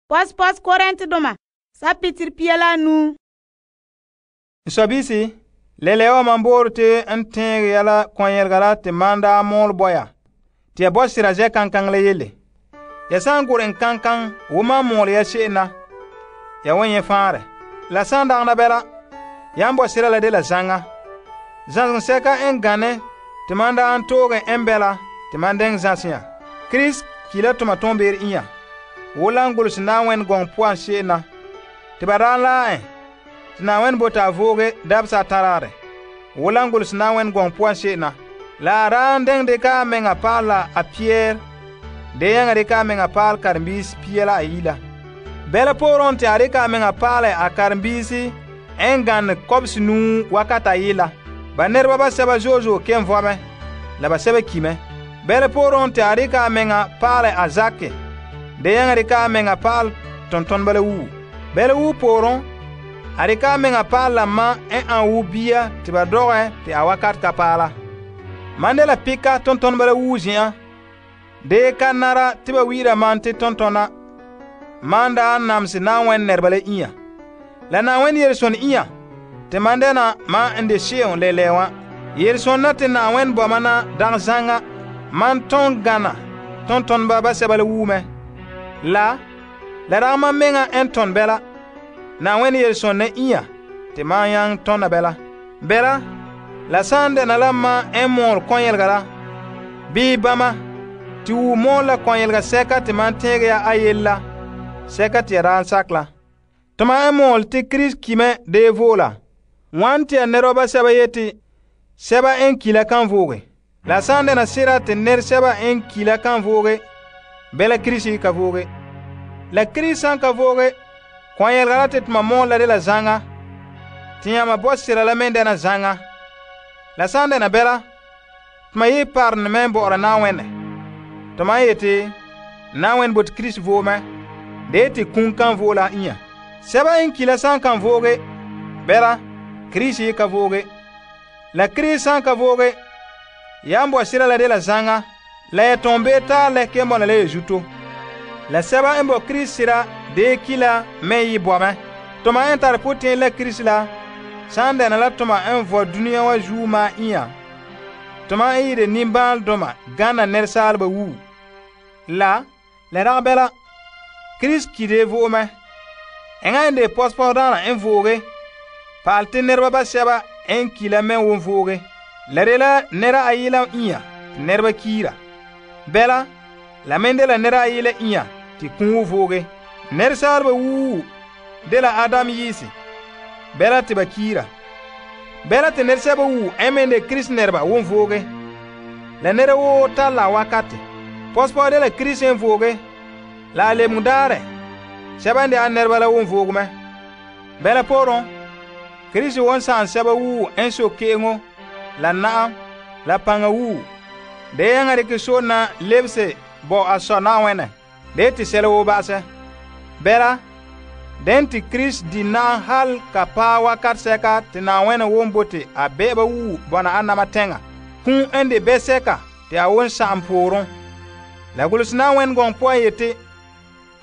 Pos Korintedoma, Sapitir 5. Sobisi, lelewa man boor te n tẽeg ya la kɔn-yɛlega la te man daa mɔɔl bɔ ya, te ya bɔ sera zɛ kankaŋ la yele. Ya san gurɛ n kankaŋ wo man mɔɔl ya se'em na, ya wan nyɛ faanrɛ. La san dagana bɛla, yan bɔ sera la de la zaŋa. Zãsegɔ sɛka n gane te man daa n toogɛ n bɛla te man dɛŋ zãsɛ ya. Krista ki la toma tõombeer inya, wo la n golehɛ Na'ayenɛ gɔŋɔ puan se'em na, te ba daa laa te Na'ayenɛ bote a vooge dabesa a taraarɛ, wo la n golehɛ Na'ayenɛ gɔŋɔ puan se'em na. La a daa n dɛŋ dɩka a meŋa paal la a piɛɛr, de yɛŋa dɩka a meŋa paal karenbiisi 2 la 1 la. Bɛla pooren te a dɩka a meŋa paalɛ a karenbiisi n gane kɔbesi 9 wakat 1 la. Ba nɛreba basɛba zo'e zo'e ken vɔ mɛ, la basɛba ki mɛ. Bɛla pooren te a dɩka a meŋa paalɛ a zakɛ, de yɛŋa dɩka a meŋa paal tontoneba la wuo. Bɛla wuo pooren, a dɩka a meŋa paal la ma n an wo bia te ba dɔgɛ te a wakat ka paala. Man de la pika tontoneba la wuo zen'an, de ka nara te ba wi'ira man te tontona man daa namse Na'ayenɛ nɛreba la inya. La Na'ayenɛ yelesonɛ inya te man dɛna man n de se'em lɛlɛ wã. Yelesonɛ te Na'ayenɛ bɔ man na dagɛ zaŋa man tõn gana tontoneba basɛba la wuo mɛ. La dagɛ man meŋa n tõn bɛla Na'ayenɛ yelesonɛ inya te man yaŋ tõna bɛla. Bɛla, la san dɛna la man n mɔɔl kɔn-yɛlega la, bii bama, te wu mɔɔl la kɔn-yɛlega sɛka te man tẽeg ya a yele la, sɛka te ya daa n sak la. Toma n mɔɔl te Krista ki mɛ dee voola, wan te ya nɛreba basɛba yeti sɛba n ki la kan vooge. La san dɛna sera te nɛresɛba n ki la kan vooge, bɛla Krista ka vooge. La Krista san ka vooge, kɔn-yɛlega la te toma mɔɔl la de la zaŋa, te yãma bɔ sera la meŋ dɛna zaŋa. La san dɛna bɛla, toma yi parenɛ mɛ bɔ'ɔra Na'ayenɛ. Toma yeti Na'ayenɛ bote Krista voo mɛ, de yeti kum kan voo la inya. Sɛba n ki la san kan vooge, bɛla Krista ka vooge. La Krista san ka vooge, yan bɔ sera la de la zaŋa, la ya tõn bee taa lɛ ken bɔna la ya zuto. La sɛba n bɔ Krista sera de ki la me yi bɔ mɛ. Toma n tare potẽen la Krista la, san dɛna la toma n vɔ dũniyã wa zuo maa inya, toma n yɩɩde nimbãaldoma gana nɛresaalba wuo. La dagɛ bɛla, Krista ki de vo'e mɛ. Eŋa n de pɔspɔsdaana n vooge, paal te nɛreba basɛba n ki la me won vooge. La de la nɛra ayi la inya te nɛreba kiira. Bɛla, la meŋ de la nɛra ayi la inya te kũu vooge. Nɛresaalba wuo de la Adam yiisi, bɛla te ba kiira. Bɛla te nɛresɛba wuo n meŋ de Krista nɛreba won vooge. La nɛra woo tar la a wakate. Pɔspɔ de la Krista n vooge, la a lebeng daarɛ, sɛba n de a nɛreba la won vooge mɛ. Bɛla pooren, Krista won sãam sɛba wuo n sok ke'eŋo, la na'am, la paŋa wuo, de yãŋa dɩkɛ sona lebse bɔ a sɔ Na'ayenɛ, de yeti sɛla woo ba'asɛ. Bɛla, den te Krista di na'am hal ka paɛ wakat sɛka te Na'ayenɛ won bote a bɛ'ɛba wuo bɔna a nama tɛŋa, kũu n de bɛ-sɛka te a won sa'am pooren. La golehɛ Na'ayenɛ gɔŋɔ puan yeti,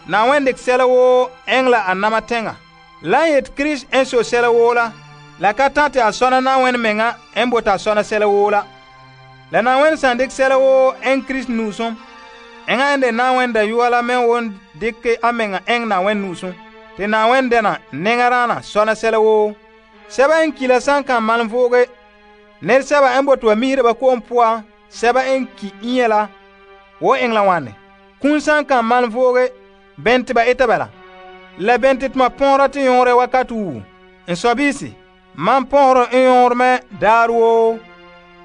Na'ayenɛ dɩk sɛla woo eŋɛ la a nama tɛŋa. La n yeti Krista n so sɛla woo la ka tã te a sɔna Na'ayenɛ meŋa n bote a sɔna sɛla woo la. La Na'ayenɛ san dɩk sɛla woo n Krista nu'usum, eŋa n de Na'ayenɛ Dayɔa la me won dɩke a meŋa eŋɛ Na'ayenɛ nu'usum, te Na'ayenɛ dɛna nɛŋadaana sɔna sɛla woo. Sɛba n ki la san kan malem vooge, nɛresɛba n bote ba misera ba ko'om puan sɛba n ki inya la, wo eŋɛ la wãne. Kũum san kan malem vooge, bɛn te ba eta bala? La bɛn te toma põora te yõore wakat wuo. N sɔbiisi, man põorẽ n yõor mɛ daar woo,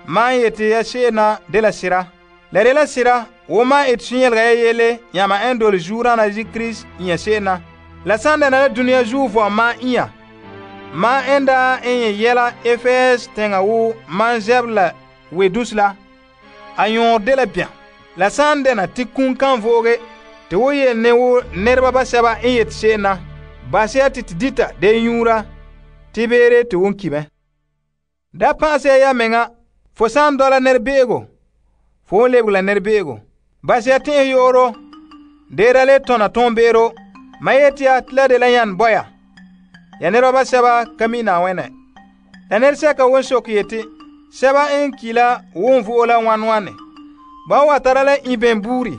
man yeti ya se'em na de la sira. La de la sira, wo man et sũ-yɛlega ya yele yãma n dole zuurãna zi Krista inya se'em na. La san dɛna la dũniyã zuo vɔm man inya, man n daa n yẽ yɛla Efɛɛs tẽŋa wo man zɛb la wedus la, a yõor de la bɛm. La san dɛna tɩ kũum kan vooge, te wo yel ne wo nɛreba basɛba n yet se'em na, bas ya tɩ tɩ dita de yũura, tɩ beere tɩ won ki mɛ. Da pãasɛ ya meŋa, fo san dɔla nɛrebe'ego, fo n lebg la nɛrebe'ego. Bas ya tẽes yooro, deera le tõna tõombeero, Ma yeti ya te la de la yan boya. Ya nɛreba sɛba ka mi Na'ayenɛ. La nɛresɛka won sok yeti, sɛba n ki la won vo'o la wane. Ba wa tara la iben buuri.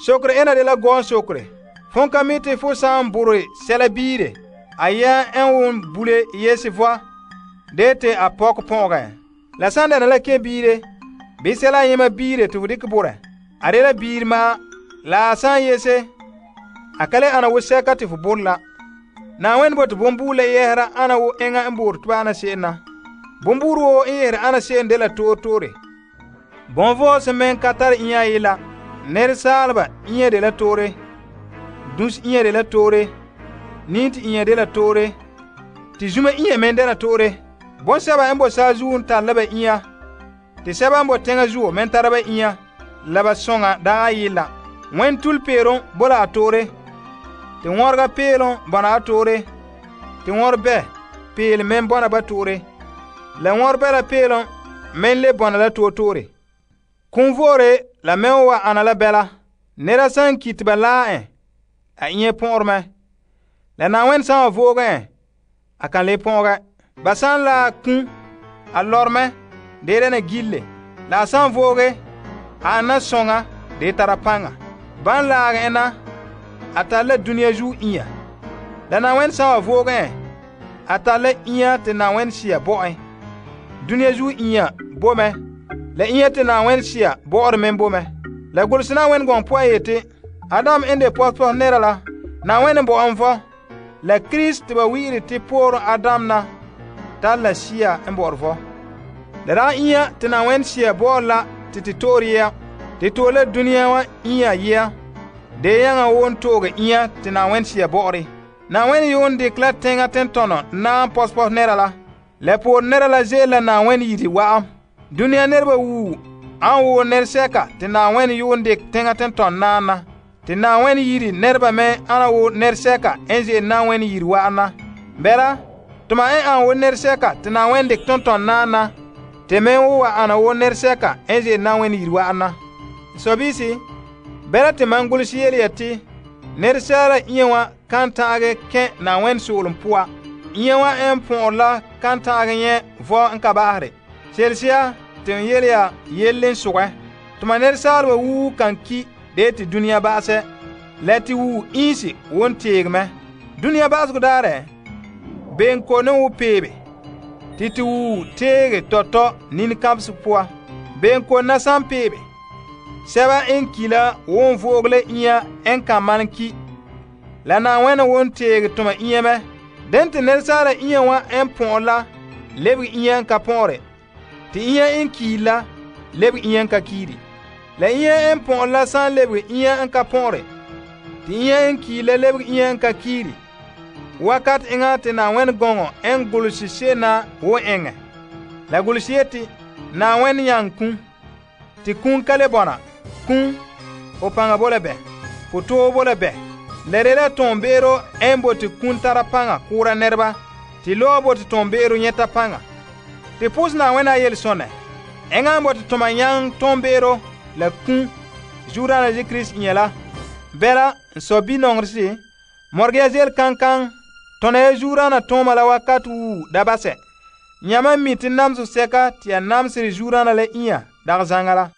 Sokre ena de la gɔɔn sokre. Fon ka mi te fo saan bore sɛla biire, a ya en won bule yesi voa, de te a pɔk pɔgɛ. La san dɛna la ke biire, bi sɛla yema biire te fo dikɛ bore. A de la biir ma, la san yese, a kale ana wo sɛka te fo bore la. Na'ayenɛ bote bombuur la yɛhera ana wo eŋa n boore te ana se'em na. Bombuur wo n yɛhera ana se'em de la toore. Bonvɔɔ se men ka tare inya yela. Nɛresaaleba inya de la toore. Dus inya de la toore. Nint inya de la toore. Te zuma inya men de la toore. Bonsɛba n bo saazuo n tare la ba inya. Te sɛba n bo teŋa zuo men tara ba inya. La ba sõŋa daga yella. Wẽn tul peerom bo la a toore. Te wɔrega peelom bɔna a toore. Te wɔr bɛ peel men bɔna ba toore. La wɔr bɛ la peelom men le bɔna la toore. Kunvoore la men wa ana la bɛla. Nera san ki te ba laa en, a inya pɔgɔrmɛ. La Na'ayenɛ san wa voogɛ en, a kan le pɔgɛ. Ba san la kun, a lɔrmɛ, de dɛna gille. La a san vooge, a ana sõŋa, de tara paŋa. Ban laagɛ en na, a tar la dunia zuo inya. La Na'ayenɛ san wa voogɛ en, a tar la inya te Na'ayenɛ sia bo en. Dunia zuo inya bo mɛ, la inya te Na'ayenɛ sia bo'ore men bo mɛ. La golse Na'ayenɛ gɔŋ poan yeti, Adam n de pɔspɔs nera la, Na'ayenɛ bo an fɔ. La Krista te ba wi'iri te poorɛ Adam na, tar la sia n bo'ore fɔ. La daa inya te Na'ayenɛ sia bo'ore la te toore yɛa. Te toore la dunia wa inya yɛa. De yãŋa won tooge inya te Na'ayenɛ sia bo'ore. Na'ayenɛ yoon dikɛ la teŋa tentɔnɔ naan pɔspɔs nera la. La poore nera la ze'ele la Na'ayenɛ yiri wa'am. Dunia nɛreba wuu an woo nɛresɛka te Na'ayenɛ yoon dikɛ teŋa tentɔnɔ naan na. Te Na'ayenɛ yiri nɛreba me ana woo nɛresɛka n ze'ele Na'ayenɛ yiri wa'am na. Bɛla, tuma n an woo nɛresɛka te Na'ayenɛ dikɛ tentɔnɔ naan na, te me wo wa ana woo nɛresɛka n ze'ele Na'ayenɛ yiri wa'am na. Sobisi, bɛla te man gulsi yele ya te, nɛresaala inya wa kan ta'age kẽ Na'ayenɛ soolem poa. Inya wa n põ'or la kan ta'age nyɛ vɔ n ka ba'asre. Selsia te n yele ya yelle n sogɛ. Tuma nɛresaaleba wuu kan ki de te dunia ba'asɛ. La te wuu iinsi won teege mɛ. Dunia ba'asegɔ daarɛ, benko ne wo peebe. Te wuu teege tɔtɔ nin-kãbesɛ poa. Benko na san peebe. Sɛba n ki la won vo'oge la inya n kan man ki. La Na'ayenɛ won teege tuma inya mɛ. Den te nɛresaala inya wa n põ'or la lebege inya n ka põ'ore. Te inya n kiiri la lebege inya n ka kiiri. La inya n põ'or la san lebege inya n ka põ'ore. Te inya n kiiri la lebege inya n ka kiiri. Wakat eŋa te Na'ayenɛ gɔŋɔ n golsi se'ena wo eŋɛ. La golsi yeti, Na'ayenɛ nyaŋ kun. Te kun ka le bɔna. Kun, o paŋa bo la bɛ. Fo too bo la bɛ. La de la tõon-be'ero n bote kun tara paŋa kʋʋra nɛreba. Te lɔɔ bote tõon-be'ero nyɛta paŋa. Te pʋʋs Na'ayenɛ a yel-sõnɛ. Eŋa n bote tʋma yãng tõon-be'ero la kun zuodaana Zesu Kirista inya la. Bɛla, n sɔ bi-nɔŋeresi, mɔrege ya zel kaŋkaŋ, tõna ya zuodaana tõoma la wakat wuu da basɛ. Yãmã mi te namseg sɛka te ya namsere zuodaana la inya dag zaŋa la.